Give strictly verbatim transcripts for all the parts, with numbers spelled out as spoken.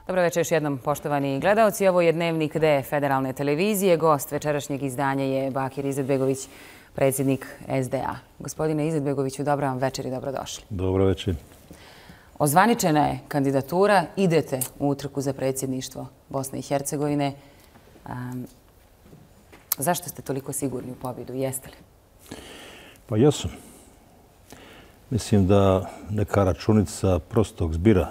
Dobro večer još jednom, poštovani gledaoci. Ovo je Dnevnik D Federalne televizije. Gost večerašnjeg izdanja je Bakir Izetbegović, predsjednik S D A. Gospodine Izetbegoviću, dobro vam večer i dobrodošli. Dobro večer. Ozvaničena je kandidatura, idete u utrku za predsjedništvo Bosne i Hercegovine. Um, zašto ste toliko sigurni u pobjedu? Jeste li? Pa jesam. Mislim da neka računica prostog zbira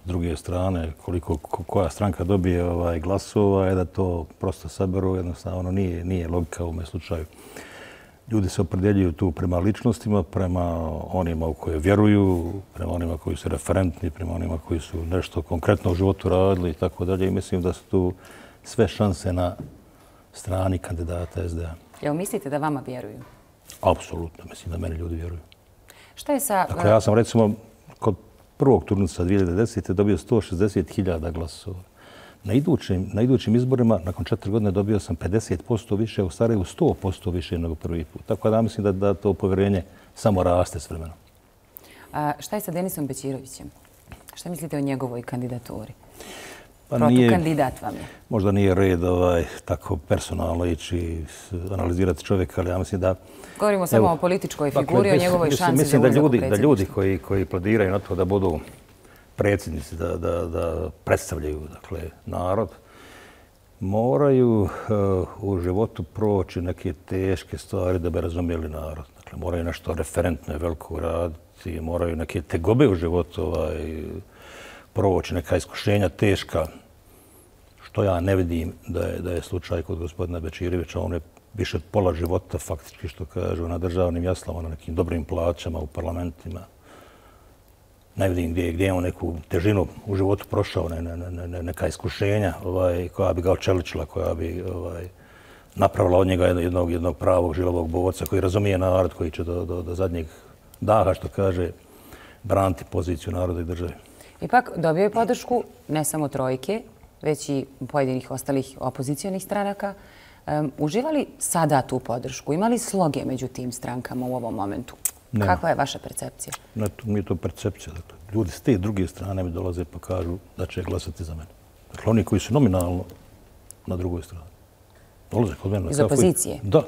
s druge strane, koliko koja stranka dobije ovaj glasova, je da to prosto saberu, jednostavno nije, nije logika u ovom slučaju. Ljudi se opredjeljuju tu prema ličnostima, prema onima u koje vjeruju, prema onima koji su referentni, prema onima koji su nešto konkretno u životu radili i tako dalje. I mislim da su tu sve šanse na strani kandidata S D A. Jel mislite da vama vjeruju? Apsolutno. Mislim da meni ljudi vjeruju. Šta je sa... Dakle, ja sam recimo kod prvog turnusa dvije hiljade desete. dobio sto šezdeset hiljada glasova. Na idućim, na idućim izborima, nakon četiri godine, dobio sam pedeset posto više, u Sarajevu sto posto više nego prvi put. Tako da mislim da, da to povjerenje samo raste s vremenom. A šta je sa Denisom Bećirovićem? Šta mislite o njegovoj kandidaturi? Pa Protukandidat vam je. Možda nije red ovaj, tako personalno ići analizirati čovjeka, ali ja mislim da... Govorimo samo evo, o političkoj dakle, figuri, o mislim, njegovoj mislim, šansi mislim za da ulazak u ljudi, da predsjedništvo. ljudi koji, koji plediraju na to da budu predsjednici, da, da, da predstavljaju dakle, narod, moraju uh, u životu proći neke teške stvari da bi razumjeli narod. Dakle, moraju nešto referentno i veliko raditi, moraju neke tegobe u životu ovaj, proći, neka iskušenja teška, što ja ne vidim da je, da je slučaj kod gospodina Bećirovića. On je više od pola života, faktički, što kažu, na državnim jaslama, na nekim dobrim plaćama u parlamentima. Ne vidim gdje, gdje je on neku težinu u životu prošao, ne, ne, ne, neka iskušenja ovaj, koja bi ga očeličila, koja bi ovaj, napravila od njega jednog, jednog pravog žilovog borca koji razumije narod, koji će do, do, do zadnjeg daha, što kaže, braniti poziciju naroda i države. Ipak dobio je podršku ne samo trojke, već i pojedinih ostalih opozicijonih stranaka. Um, uživa li sada tu podršku? Ima li sloge među tim strankama u ovom momentu? Nema. Kakva je vaša percepcija? Ne, to nije to percepcija. Dakle, ljudi s te druge strane mi dolaze pa kažu da će glasati za mene. Dakle, oni koji su nominalno na drugoj strani. Dolaze kod mene. Iz opozicije? Da.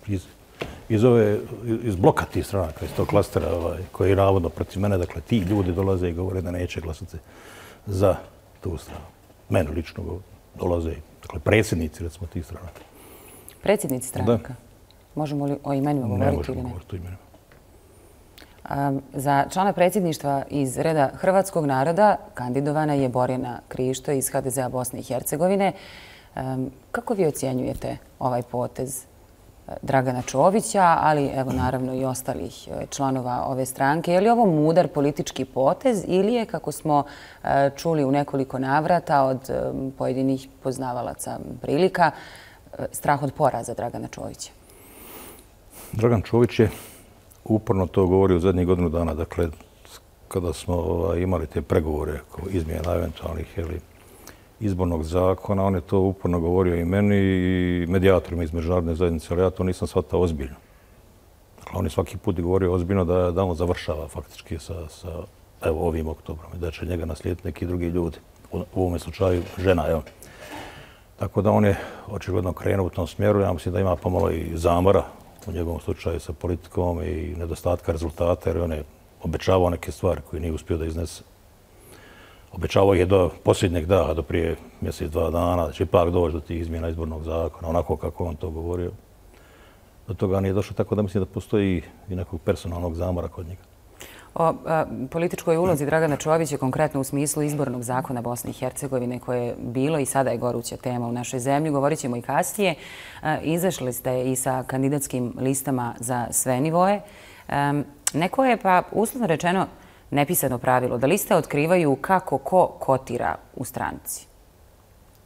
Iz, iz, ove, iz bloka tih stranaka, iz tog klastera ovaj, koji je navodno protiv mene. Dakle, ti ljudi dolaze i govore da neće glasati za tu stranu. Mene lično dolaze, dakle, predsjednici, recimo, tih stranaka. Predsjednici stranaka? Da. Možemo li o imenima govoriti? Ne možemo ili ne? govoriti o imenima. Um, za člana predsjedništva iz reda Hrvatskog naroda kandidovana je Borjana Krišto iz H D Z A Bosne i Hercegovine. Um, kako vi ocjenjujete ovaj potez Dragana Čovića, ali evo naravno i ostalih članova ove stranke? Je li ovo mudar politički potez ili je, kako smo uh, čuli u nekoliko navrata od um, pojedinih poznavalaca prilika, uh, strah od poraza Dragana Čovića? Dragan Čović je uporno to govori u zadnjih godinu dana. Dakle, kada smo ovaj, imali te pregovore oko izmjena eventualnih jeli, izbornog zakona, on je to uporno govorio i meni i medijatorima iz međunarodne zajednice, ali ja to nisam shvatao ozbiljno. Dakle, on je svaki put govorio ozbiljno da, da on završava faktički sa, sa evo, ovim oktobrom i da će njega naslijediti neki drugi ljudi. U, u ovom slučaju žena, evo. Tako da on je očigledno krenuo u tom smjeru. Ja mislim da ima pomalo i zamora u njegovom slučaju sa politikom i nedostatka rezultata, jer on je obećavao neke stvari koje nije uspio da iznese. Obećavao je do posljednjeg daha, do prije mjesec, dva dana, da će ipak doći do tih izmjena izbornog zakona, onako kako on to govorio. Do toga nije došlo, tako da mislim da postoji i nekog personalnog zamora kod njega. O a, političkoj ulozi Dragana Čovića, konkretno u smislu izbornog zakona Bosne i Hercegovine, koje je bilo i sada je goruća tema u našoj zemlji, govorit ćemo i kasnije. A, izašli ste i sa kandidatskim listama za sve nivoje. A, neko je, pa uslovno rečeno, nepisano pravilo da liste otkrivaju kako ko kotira u stranci.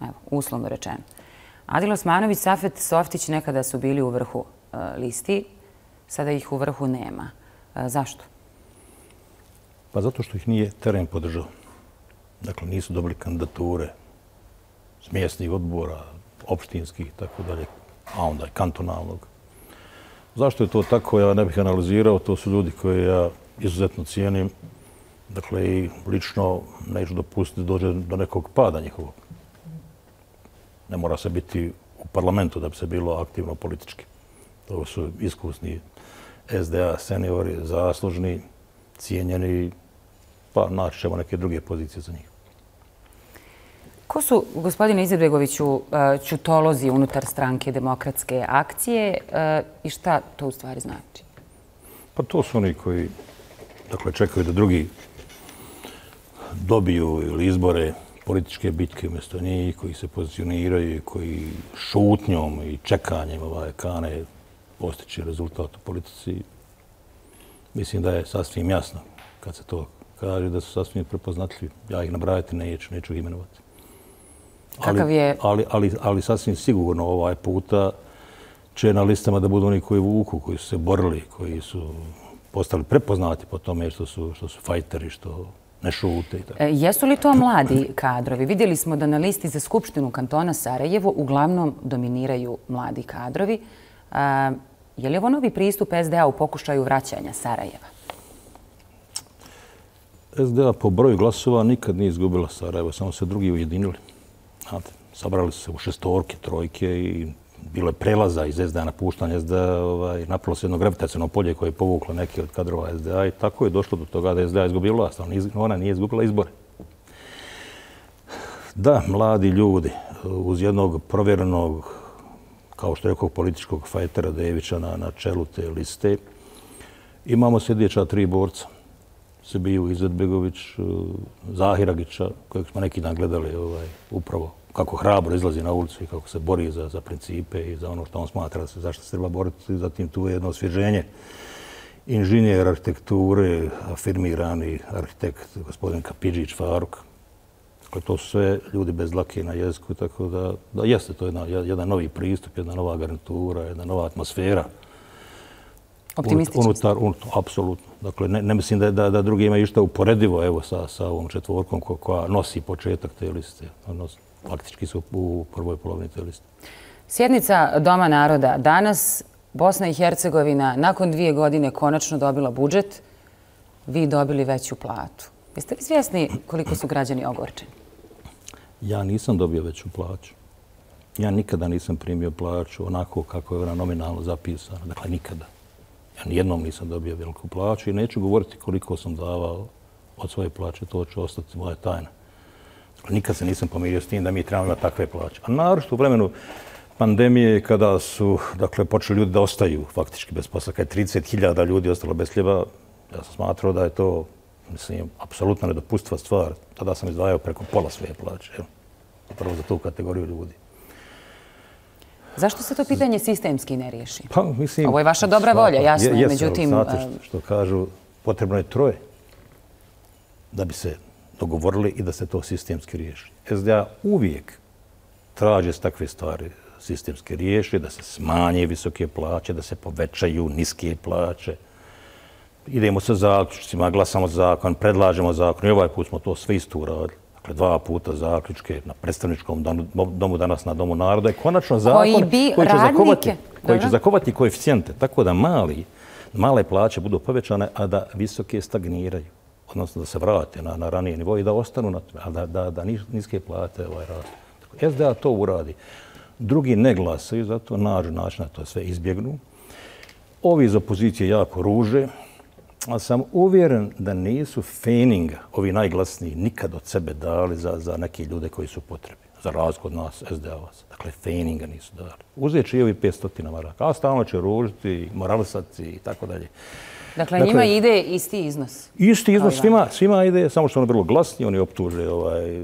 Evo, uslovno rečeno. Adil Osmanović, Safet Softić nekada su bili u vrhu a, listi, sada ih u vrhu nema. A, zašto? Pa zato što ih nije teren podržao. Dakle, nisu dobili kandidature s mjesnih odbora, opštinskih i tako dalje, a onda i kantonalnog. Zašto je to tako, ja ne bih analizirao. To su ljudi koje ja izuzetno cijenim. Dakle, i lično neću dopustiti da dođe do nekog pada njihovog. Ne mora se biti u parlamentu da bi se bilo aktivno politički. To su iskusni S D A seniori, zaslužni, cijenjeni, pa naći ćemo neke druge pozicije za njih. Ko su, gospodine Izetbegoviću, ćutolozi unutar stranke Demokratske akcije i šta to u stvari znači? Pa to su oni koji dakle, čekaju da drugi dobiju ili izbore političke bitke umjesto njih, koji se pozicioniraju, koji šutnjom i čekanjem ovaj, kane postići rezultat u politici. Mislim da je sasvim jasno kad se to kaže, da su sasvim prepoznatljivi. Ja ih nabrajati neću, neću ih imenovati. Kakav je... Ali, ali, ali sasvim sigurno ovaj puta će na listama da budu oni koji vuku, koji su se borili, koji su postali prepoznati po tome što su, što su fajteri, što ne šute i tako. E, jesu li to mladi kadrovi? Vidjeli smo da na listi za Skupštinu kantona Sarajevo uglavnom dominiraju mladi kadrovi. A, je li ovo novi pristup S D A u pokušaju vraćanja Sarajeva? S D A po broju glasova nikad nije izgubila Sarajevo, samo se drugi ujedinili. Znate, sabrali su se u šestorke, trojke i bilo je prelaza iz S D A, napuštanja S D A, ovaj, napravilo se jedno gravitaciono polje koje je povuklo neki od kadrova S D A i tako je došlo do toga da S D A izgubila vlast, ali ona nije izgubila izbore. Da, mladi ljudi uz jednog provjerenog, kao što je rekao, političkog fajtera Devića na, na čelu te liste, imamo sljedeća tri borca. Sebiju Izetbegović, Zahiragića, kojeg smo neki dan gledali ovaj, upravo kako hrabro izlazi na ulicu i kako se bori za, za principe i za ono što on smatra da se zašto se treba boriti. Zatim tu je jedno osvježenje. Inženjer arhitekture, afirmirani arhitekt gospodin Kapidžić Faruk. Dakle, to su sve ljudi bez dlake na jeziku, tako da, da jeste to jedna, jedan novi pristup, jedna nova garnitura, jedna nova atmosfera. Optimistično? Unutar, unutar, apsolutno. Dakle, ne, ne mislim da, da, da drugi imaju išta uporedivo evo, sa, sa ovom četvorkom ko, koja nosi početak te liste. Nos, faktički su u prvoj polovini te liste. Sjednica Doma naroda. Danas Bosna i Hercegovina nakon dvije godine konačno dobila budžet. Vi dobili veću platu. Jeste li svjesni koliko su građani ogorčeni? Ja nisam dobio veću plaću. Ja nikada nisam primio plaću onako kako je ona nominalno zapisana. Dakle, nikada. Ja nijednom nisam dobio veliku plaću i neću govoriti koliko sam davao od svoje plaće. To će ostati moja tajna. Dakle, nikad se nisam pomirio s tim da mi trebamo imati takve plaće. A naročito u vremenu pandemije kada su dakle, počeli ljudi da ostaju faktički bez posla. Kad je trideset hiljada ljudi ostalo bez hljeba, ja sam smatrao da je to mislim, apsolutno nedopustiva stvar. Tada sam izdvajao preko pola svoje plaće. Jel? Prvo za tu kategoriju ljudi. Zašto se to pitanje sistemski ne riješi? Pa, mislim, ovo je vaša dobra volja, jasno je. Jesu, međutim, znate što, što kažu, potrebno je troje da bi se dogovorili i da se to sistemski riješi. S D A uvijek traže takve stvari sistemski riješi, da se smanje visoke plaće, da se povećaju niske plaće. Idemo sa zaključcima, glasamo zakon, predlažemo zakon i ovaj put smo to sve isto uradili. Dakle, dva puta zaključke na predstavničkom domu, danas na Domu naroda je konačno zakon koji, bi koji, će, radnike, zakovati, koji će zakovati koeficijente, tako da mali, male plaće budu povećane, a da visoke stagniraju. Odnosno da se vrate na, na ranije nivo i da ostanu na tome, a da, da, da niske plate ovaj rastu. S D A to uradi. Drugi ne glasaju, zato nađu način da to sve izbjegnu. Ovi iz opozicije jako ruže, ali sam uvjeren da nisu feninga, ovi najglasniji, nikad od sebe dali za, za neke ljude koji su potrebni. Za razliku od nas, S D A-vaca. Dakle, feninga nisu dali. Uzet će i ovi petsto maraka, a stalno će ružiti, moralisati i tako dalje. Dakle, dakle, njima ide isti iznos? Isti iznos svima, svima ide, samo što ono vrlo glasni, oni optuže ovaj,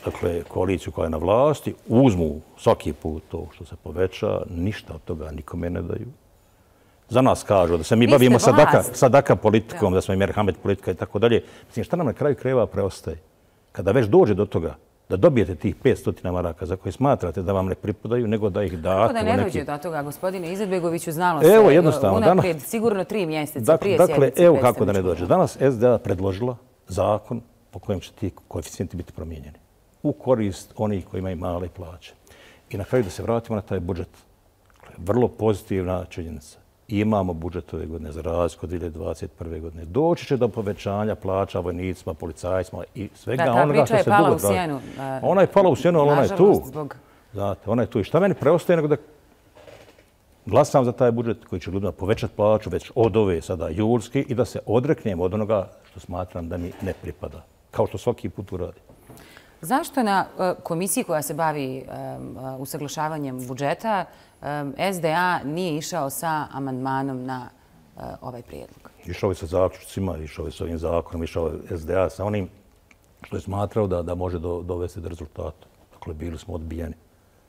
dakle, koaliciju koja je na vlasti, uzmu svaki put to što se poveća, ništa od toga nikome ne daju. Za nas kažu da se mi bavimo sadaka, sadaka politikom, ja. da smo i merhamet politika i tako dalje. Mislim, šta nam na kraju krajeva preostaje? Kada već dođe do toga da dobijete tih petsto maraka za koje smatrate da vam ne pripadaju, nego da ih date... Kako da ne neki... dođe do toga, gospodine Izetbegoviću, znalo se evo, jednostavno, unaprijed, danas... sigurno tri mjeseca dakle, prije dakle, sjednice. Evo kako da ne dođe. Danas S D A predložila zakon po kojem će ti koeficijenti biti promijenjeni. U korist onih koji imaju male plaće. I na kraju da se vratimo na taj budžet. Vrlo pozitivna činjenica. i imamo budžet ove godine za razliku od dvije hiljade dvadeset prve. godine. Doći će do povećanja plaća vojnicima, policajcima i svega onoga što se dugo traži. Ona je pala u sjenu, ali ona je tu. Znate, ona je tu. I šta meni preostaje nego da glasam za taj budžet koji će ljudima povećati plaću već od ove sada julske i da se odreknem od onoga što smatram da mi ne pripada. Kao što svaki put uradi. Zašto na komisiji koja se bavi usaglašavanjem budžeta S D A nije išao sa amandmanom na ovaj prijedlog? Išao je sa zaključcima, išao je sa ovim zakonom, išao je S D A sa onim što je smatrao da, da može do, dovesti do rezultata. Dakle, bili smo odbijeni.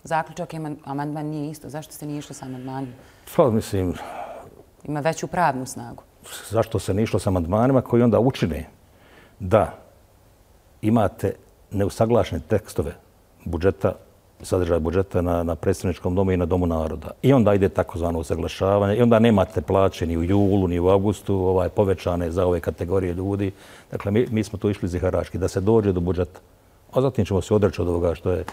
Zaključak i amandman nije isto. Zašto ste nije išli sa amandmanom? Pa, mislim... Ima veću pravnu snagu. Zašto se ne išlo sa amandmanima koji onda učine da imate neusaglašene tekstove budžeta, sadržaja budžeta na, na predstavničkom domu i na Domu naroda. I onda ide takozvano usaglašavanje i onda nemate plaće ni u julu, ni u avgustu, ovaj, povećane za ove kategorije ljudi. Dakle, mi, mi smo tu išli ziharački da se dođe do budžeta. A zatim ćemo se odreći od ovoga što je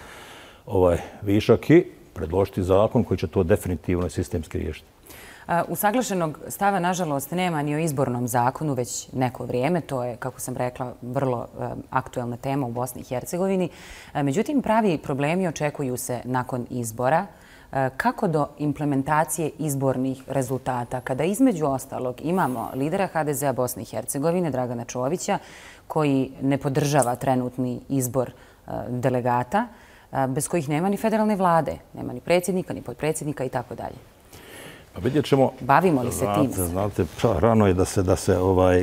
ovaj višak i predložiti zakon koji će to definitivno i sistemski riješiti. Usaglašenog stava, nažalost, nema ni o izbornom zakonu već neko vrijeme. To je, kako sam rekla, vrlo aktuelna tema u Bosni i Hercegovini. Međutim, pravi problemi očekuju se nakon izbora. Kako do implementacije izbornih rezultata, kada između ostalog imamo lidera H D Z-a Bosne i Hercegovine, Dragana Čovića, koji ne podržava trenutni izbor delegata, bez kojih nema ni federalne vlade, nema ni predsjednika, ni potpredsjednika i tako dalje. Pa vidjet ćemo... Bavimo li se tim? Znate, pa, rano je da se, da se ovaj,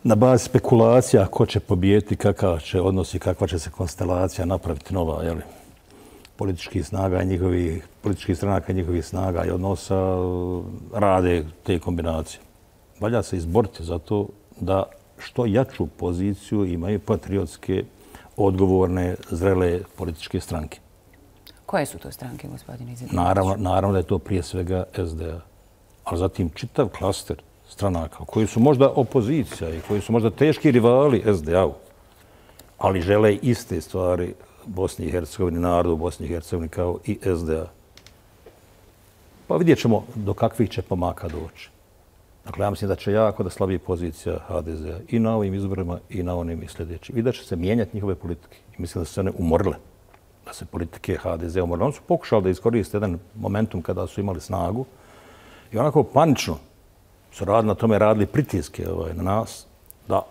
na bazi spekulacija ko će pobijeti, kakav će odnos i kakva će se konstelacija napraviti nova, jeli, političkih snaga i njihovih, političkih stranaka i njihovih snaga i odnosa rade te kombinacije. Valja se izboriti za to da što jaču poziciju imaju patriotske, odgovorne, zrele političke stranke. Koje su to stranke, gospodine Izetbegović? Naravno, naravno da je to prije svega S D A. Ali zatim čitav klaster stranaka koji su možda opozicija i koji su možda teški rivali S D A-u, ali žele iste stvari Bosni i Hercegovini, narodu u Bosni i Hercegovini kao i S D A. Pa vidjet ćemo do kakvih će pomaka doći. Dakle, ja mislim da će jako da slabi pozicija H D Z-a i na ovim izborima i na onim i sljedećim. I da će se mijenjati njihove politike. I mislim da su se one umorile. Da se politike H D Z umorile. Oni su pokušali da iskoriste jedan momentum kada su imali snagu i onako panično su radili na tome, radili pritiske ovaj, na nas da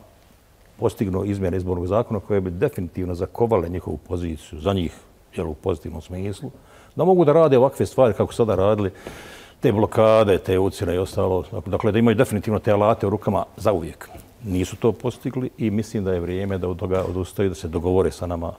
postignu izmjene izbornog zakona koje bi definitivno zakovale njihovu poziciju za njih, jel, u pozitivnom smislu, da mogu da rade ovakve stvari kako sada radili, te blokade, te ucjene i ostalo. Dakle, da imaju definitivno te alate u rukama za uvijek. Nisu to postigli i mislim da je vrijeme da od toga odustaju, da se dogovore sa nama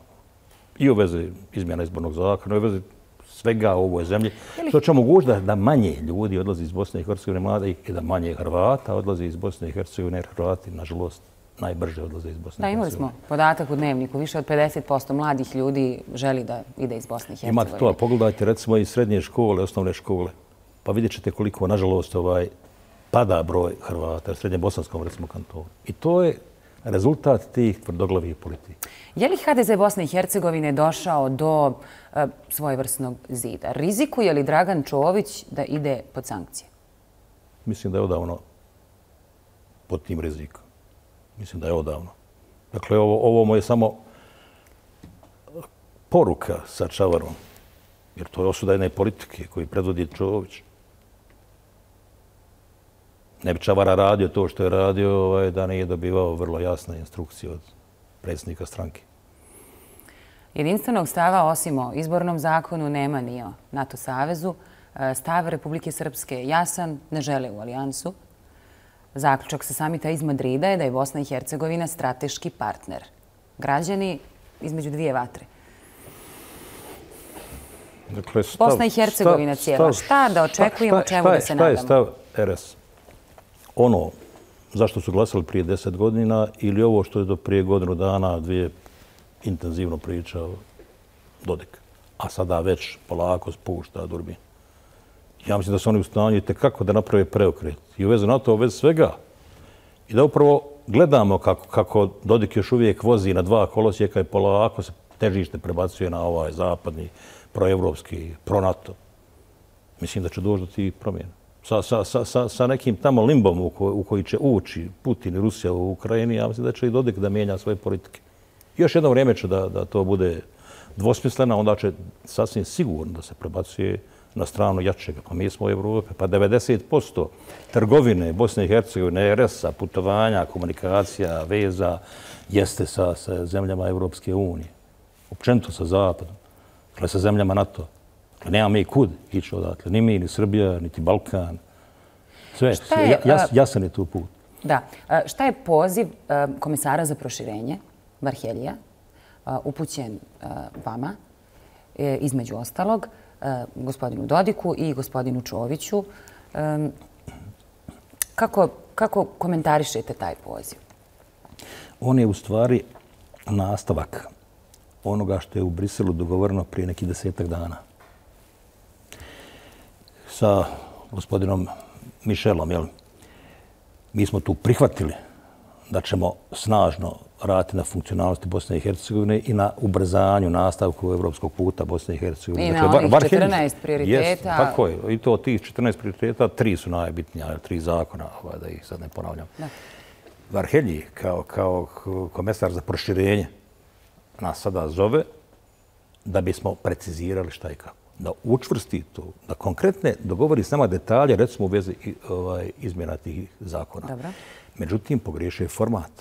i u vezi izmjena izbornog zakona, i u vezi svega u ovoj zemlji, što će omogućiti da, da manje ljudi odlazi iz Bosne i Hercegovine mladih i da manje Hrvata odlazi iz Bosne i Hercegovine, jer Hrvati, nažalost, najbrže odlaze iz Bosne i Hercegovine. Da, imali smo podatak u dnevniku. Više od pedeset posto mladih ljudi želi da ide iz Bosne i Hercegovine. Imate to, a pogledajte recimo i srednje škole, osnovne škole, pa vidjet ćete koliko, nažalost, ovaj, pada broj Hrvata u srednje bosanskom, recimo, kantonu. I to je rezultat tih tvrdoglavih politika. Je li H D Z Bosne i Hercegovine došao do e, svojevrsnog zida? Rizikuje li Dragan Čović da ide pod sankcije? Mislim da je odavno pod tim rizikom. Mislim da je odavno. Dakle, ovo, ovo mu je samo poruka sa čavarom. Jer to je osuda jedne politike koju predvodi Čović. Ne bi Čavara radio to što je radio ovaj, da nije dobivao vrlo jasne instrukcije od predsjednika stranke. Jedinstvenog stava osim o izbornom zakonu nema ni o NATO savezu. Stav Republike Srpske jasan, ne žele u alijansu. Zaključak sa samita iz Madrida je da je Bosna i Hercegovina strateški partner. Građani između dvije vatre. Dakle, stav, Bosna i Hercegovina cijela. Šta da očekujemo, šta, šta, čemu da se nadamo? Šta je stav R S? Ono zašto su glasali prije deset godina ili ovo što je do prije godinu dana, dvije intenzivno pričao Dodik, a sada već polako spušta Durbin. Ja mislim da su oni u stanju itekako da naprave preokret i u vezi NATO, u vezi svega. I da upravo gledamo kako, kako Dodik još uvijek vozi na dva kolosijeka i polako se težište prebacuje na ovaj zapadni, proevropski, pro-NATO. Mislim da će doći do tih promjena. sa, sa, sa, sa nekim tamo limbom u, ko, u koji će ući Putin i Rusija u Ukrajini, ja mislim da će i Dodik da mijenja svoje politike. Još jedno vrijeme će da, da to bude dvosmisleno, onda će sasvim sigurno da se prebacuje na stranu jačega. Pa mi smo u Evropi, pa devedeset posto trgovine Bosne i Hercegovine, R S-a, putovanja, komunikacija, veza, jeste sa, sa zemljama Evropske unije. Općenito sa Zapadom, dakle sa zemljama NATO. Dakle, nema mi kud ići odatle. Ni mi, ni Srbija, niti Balkan. Sve, je, ja, jas, jasan je tu put. Da. Šta je poziv komesara za proširenje, Varheljija, upućen vama, između ostalog, gospodinu Dodiku i gospodinu Čoviću? Kako, kako komentarišete taj poziv? On je u stvari nastavak onoga što je u Briselu dogovoreno prije nekih desetak dana. Sa gospodinom Michelom, jel? Mi smo tu prihvatili da ćemo snažno raditi na funkcionalnosti Bosne i Hercegovine i na ubrzanju nastavku evropskog puta Bosne i Hercegovine. Ima dakle, onih četrnaest prioriteta. Jest, tako je. I to tih četrnaest prioriteta, tri su najbitnija, tri zakona, ovaj, da ih sad ne ponavljam. Da. Varhelji, kao, kao komesar za proširenje, nas sada zove da bismo precizirali šta i kako. Da učvrsti to, da konkretne dogovori s nama detalje, recimo u vezi ovaj, izmjena tih zakona. Dobro. Međutim, pogriješio je format.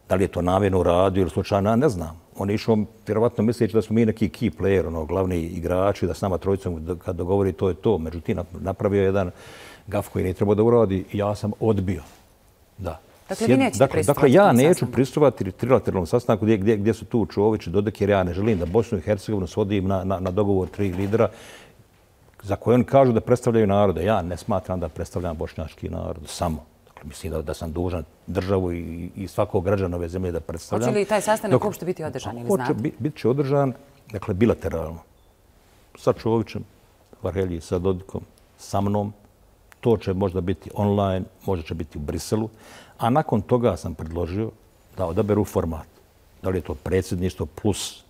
Da li je to namjerno uradio ili slučajno, ne znam. On je išao vjerovatno misleći da smo mi neki key player, ono, glavni igrači, da s nama trojicom kad dogovori to je to. Međutim, napravio je jedan gaf koji nije trebao da uradi i ja sam odbio. Da. Dakle, vi nećete dakle, pristupati dakle, ja neću pristupati trilateralnom sastanku gdje, gdje, gdje su tu Čović i Dodik, jer ja ne želim da Bosnu i Hercegovinu svodim na, na, na dogovor tri lidera za koje oni kažu da predstavljaju narode. Ja ne smatram da predstavljam bošnjački narod samo. Dakle, mislim da, da sam dužan državu i, i svakog građana ove zemlje da predstavljam. Hoće li taj sastanak uopšte biti održan ili znate? Bit, bit će održan, dakle, bilateralno. Sa Čovićem, Varhelji, sa Dodikom, sa mnom. To će možda biti online, možda će biti u Briselu. A nakon toga sam predložio da odaberu format. Da li je to predsjedništvo plus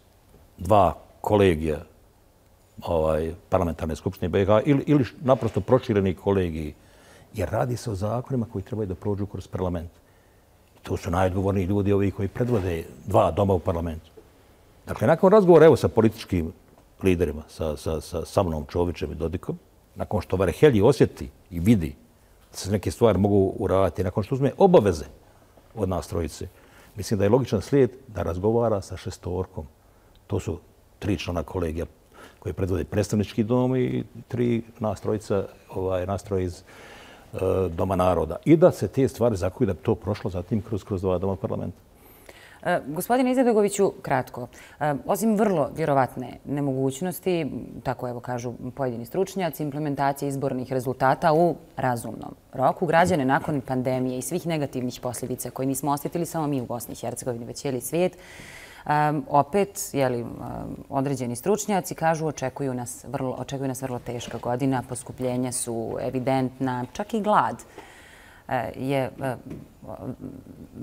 dva kolegija ovaj, parlamentarne skupštine B iH ili, ili naprosto prošireni kolegiji. Jer radi se o zakonima koji trebaju da prođu kroz parlament. To su najodgovorniji ljudi ovi koji predvode dva doma u parlamentu. Dakle, nakon razgovora evo sa političkim liderima, sa, sa, sa, sa mnom, Čovićem i Dodikom, nakon što Varhelji osjeti i vidi da se neke stvari mogu uraditi, nakon što uzme obaveze od nas trojice, mislim da je logičan slijed da razgovara sa šestorkom. To su tri člana kolegija koji predvode predstavnički dom i tri nas trojica ovaj, nastroje iz uh, Doma naroda. I da se te stvari zakuju da bi to prošlo zatim kroz, kroz dva doma parlamenta. E, gospodine Izetbegoviću, kratko. E, osim vrlo vjerovatne nemogućnosti, tako evo kažu pojedini stručnjaci, implementacije izbornih rezultata u razumnom roku, građane nakon pandemije i svih negativnih posljedica koje nismo osjetili samo mi u Bosni i Hercegovini, već cijeli svijet, Um, opet, jeli, um, određeni stručnjaci kažu očekuju nas, vrlo, očekuju nas vrlo teška godina, poskupljenja su evidentna, čak i glad uh, je uh,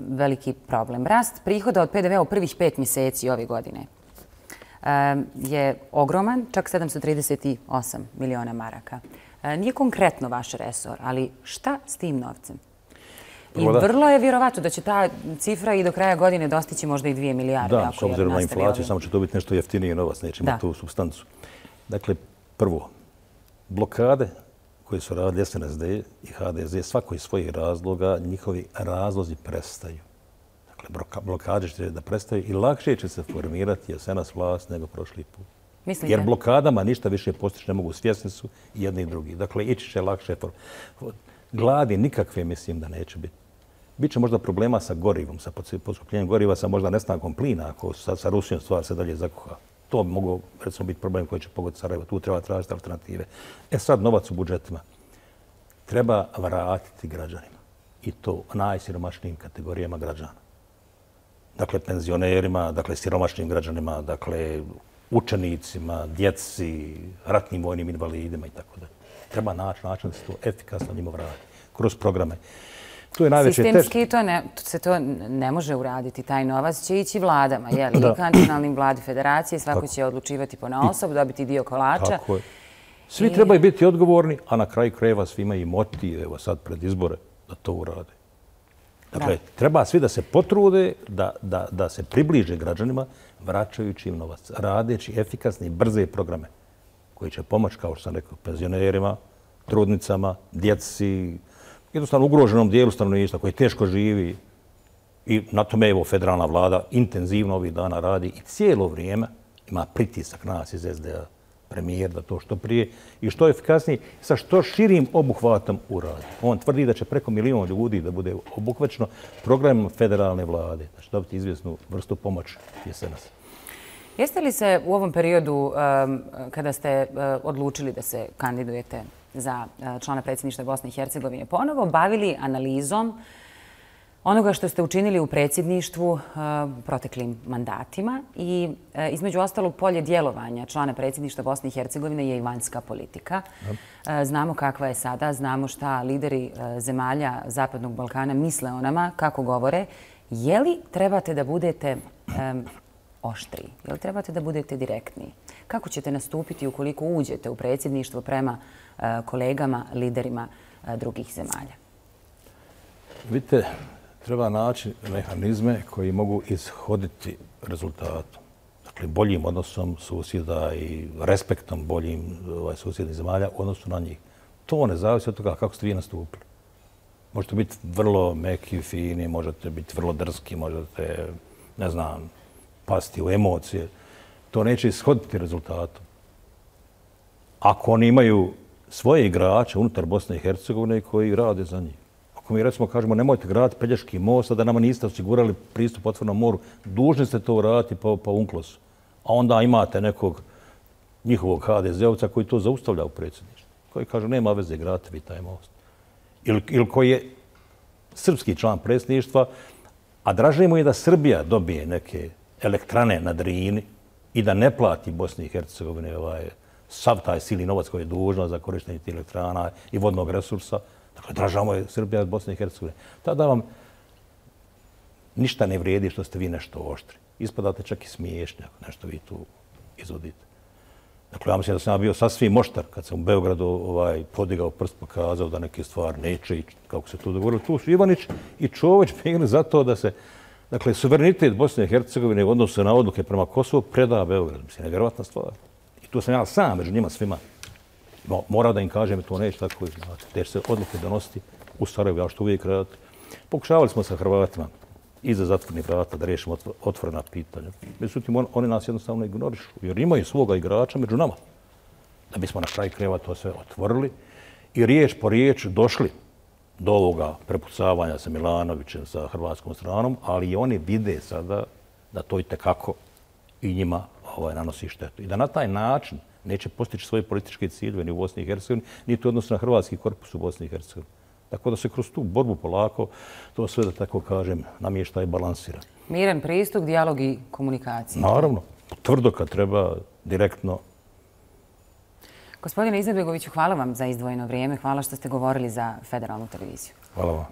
veliki problem. Rast prihoda od P D V-a u prvih pet mjeseci ove godine um, je ogroman, čak sedamsto trideset osam miliona maraka. Uh, nije konkretno vaš resor, ali šta s tim novcem? I vrlo je vjerovatno da će ta cifra i do kraja godine dostići možda i dvije milijarde. Da, s obzirom na inflaciju, samo će to biti nešto jeftinije novac, neće imati tu supstancu. Dakle, prvo, blokade koje su radili S N S D i H D Z, svako iz svojih razloga, njihovi razlozi prestaju. Dakle, blokade će da prestaju i lakše će se formirati jesenas vlast nego prošli put. Mislite? Jer blokadama ništa više postići ne mogu, svjesni su i jedni i drugi. Dakle, ići će lakše. Gladi nikakve mislim da neće biti. Biće možda problema sa gorivom, sa poskupljenjem goriva, sa možda nestankom plina, ako sa, sa Rusijom stvar se dalje zakuha. To bi moglo, recimo, biti problem koji će pogoditi Sarajevo. Tu treba tražiti alternative. E sad, novac u budžetima treba vratiti građanima. I to najsiromašnijim kategorijama građana. Dakle, penzionerima, dakle, siromašnim građanima, dakle, učenicima, djeci, ratnim vojnim invalidima i tako dalje. Treba naći način da se to efikasno njima vrati kroz programe. To je najveće sistemski to ne, se to ne može uraditi. Taj novac će ići vladama, jel? I kantonalnim vladi federacije, svako će odlučivati ponaosob, dobiti dio kolača. Tako je. Svi trebaju biti odgovorni, a na kraju krajeva svi imaju motiv, evo sad pred izbore, da to urade. Dakle, treba svi da se potrude, da, da, da se približe građanima, vraćajući im novac, radeći efikasne i brze programe koji će pomoći, kao što sam rekao, penzionerima, trudnicama, djeci, jednostavno ugroženom dijelu stanovništva koji teško živi. I na tome evo federalna vlada intenzivno ovih dana radi i cijelo vrijeme ima pritisak nas iz es de a, premijer, da to što prije i što efikasnije, sa što širim obuhvatom uradi. On tvrdi da će preko milijon ljudi da bude obuhvaćeno programom federalne vlade, da će dobiti izvjesnu vrstu pomoći jesenas. Jeste li se u ovom periodu, kada ste odlučili da se kandidujete za člana predsjedništva Bosne i Hercegovine, ponovo bavili analizom onoga što ste učinili u predsjedništvu u proteklim mandatima i između ostalog polje djelovanja člana predsjedništva Bosne i Hercegovine je i vanjska politika. Znamo kakva je sada, znamo šta lideri zemalja Zapadnog Balkana misle o nama, kako govore. Je li trebate da budete oštriji? Je li trebate da budete direktniji? Kako ćete nastupiti ukoliko uđete u predsjedništvo prema kolegama, liderima drugih zemalja? Vidite, treba naći mehanizme koji mogu ishoditi rezultatom. Dakle, boljim odnosom susjeda i respektom boljim ovaj, susjednih zemalja u odnosu na njih. To ne zavisi od toga kako ste vi nastupili. Možete biti vrlo meki, fini, možete biti vrlo drski, možete, ne znam, pasti u emocije. To neće ishoditi rezultatom. Ako oni imaju svoje igrače unutar Bosne i Hercegovine koji rade za njih. Ako mi recimo kažemo nemojte graditi Pelješki most, a da nama niste osigurali pristup otvorenom moru, dužni ste to uraditi po, po unklosu. A onda imate nekog njihovog ha de zeovca koji to zaustavlja u predsjedništvu. Koji kaže nema veze graditi vi taj most. Ili, ili koji je srpski član predsjedništva, a draže mu je da Srbija dobije neke elektrane na Drini i da ne plati Bosni i Hercegovine ovaj, sav taj silni novac koji je dužna za korištenje tih elektrana i vodnog resursa. Dakle, dražamo je Srbija od Bosne i Hercegovine. Tada vam ništa ne vrijedi što ste vi nešto oštri. Ispadate čak i smiješni ako nešto vi tu izvodite. Dakle, ja mislim da sam ja bio sasvim oštar kad sam u Beogradu ovaj, podigao prst, pokazao da neke stvari neće i kako se tu dogovorilo. Tu su Ivanić i Čović bili za to da se, dakle, suverenitet Bosne i Hercegovine u odnosu na odluke prema Kosovu preda Beogradu. Mislim, nevjerovatna stvar. I tu sam ja sam među njima svima. No, morao da im kažem, to neće tako znati. Te će se odluke donositi u Sarajevu, ja što uvijek raditi. Pokušavali smo sa Hrvatima iza zatvornih vrata da riješimo otvorena pitanja. Međutim, on, oni nas jednostavno ignorišu, jer imaju svoga igrača među nama. Da bismo na kraju krajeva to sve otvorili i riječ po riječ došli do ovoga prepucavanja sa Milanovićem, sa hrvatskom stranom, ali i oni vide sada da to i tekako i njima ovaj, nanosi štetu. I da na taj način neće postići svoje političke ciljeve ni u Bosni i Hercegovini, niti u odnosu na hrvatski korpus u Bosni i Hercegovini. Tako da se kroz tu borbu polako to sve, da tako kažem, namješta i balansira. Miran pristup, dijalog i komunikacija. Naravno. Tvrdo kad treba, direktno. Gospodine Izetbegoviću, hvala vam za izdvojeno vrijeme. Hvala što ste govorili za Federalnu televiziju. Hvala vam.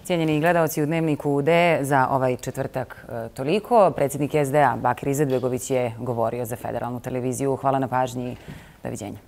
Cijenjeni gledalci u Dnevniku U D, za ovaj četvrtak toliko. Predsjednik es de a Bakir Izetbegović je govorio za Federalnu televiziju. Hvala na pažnji. Doviđenja.